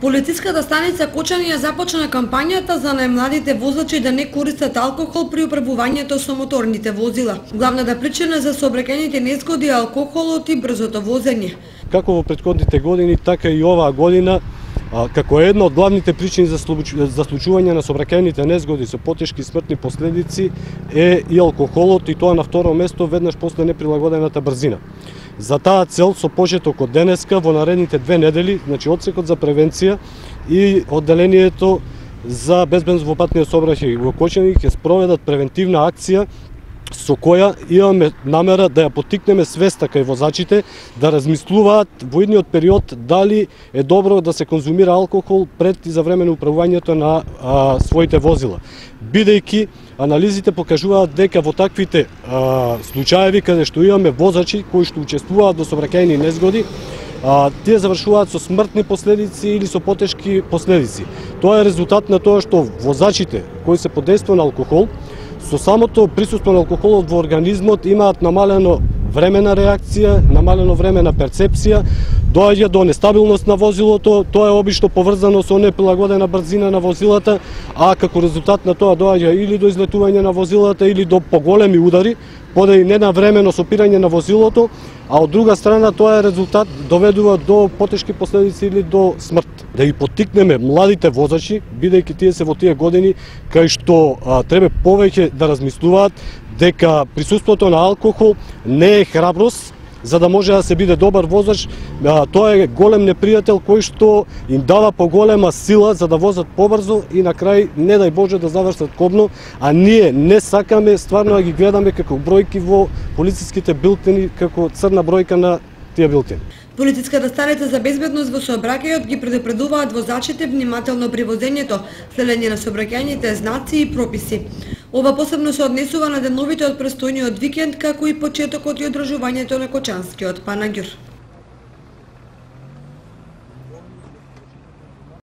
Полициската станица Кочани ја започна кампањата за најмладите возачи да не користат алкохол при управувањето со моторните возила. Главната причина за сообраќајните незгоди е алкохолот и брзото возење. Како во претходните години, така и оваа година, како една од главните причини за случување на сообраќајните незгоди со потешки смртни последици е и алкохолот, и тоа на второ место веднаш после неприлагодената брзина. За таа цел со почеток од денеска во наредните 2 недели, значи одсекот за превенција и одделението за безбедност во патниот сообраќај во Кочани ќе спроведат превентивна акција со која имаме намера да ја поттикнеме свеста кај возачите да размислуваат во идниот период дали е добро да се конзумира алкохол пред и за време на управувањето на своите возила. Бидејќи анализите покажуваат дека во таквите случаеви каде што имаме возачи кои што учествуваат во сообраќајни незгоди, тие завршуваат со смртни последици или со потешки последици. Тоа е резултат на тоа што возачите кои се под дејство на алкохол со самото присуство на алкохолот во организмот имаат намалено време на реакција, намалено време на перцепција, доаѓа до нестабилност на возилото, тоа е обично поврзано со неприлагодена брзина на возилата, а како резултат на тоа доаѓа или до излетување на возилата или до поголеми удари, поради ненавремено сопирање на возилото, а од друга страна тоа е резултат доведува до потешки последици или до смрт. Да ги поттикнеме младите возачи, бидејќи тие се во тие години кај што треба повеќе да размислуваат дека присуството на алкохол не е храброст за да може да се биде добар возач, тоа е голем непријател кој што им дава поголема сила за да возат побрзо и на крај не дај Боже да завршат кобно, а ние не сакаме стварно да ги гледаме како бројки во полициските билтени, како црна бројка на тие билтени. Полициската станица за безбедност во сообраќајот ги предупредуваат возачите внимателно при возењето, следење на сообраќајните знаци и прописи. Ова посебно се однесува на деновите од престојниот викенд, како и почетокот и одржувањето на Кочанскиот панаѓур.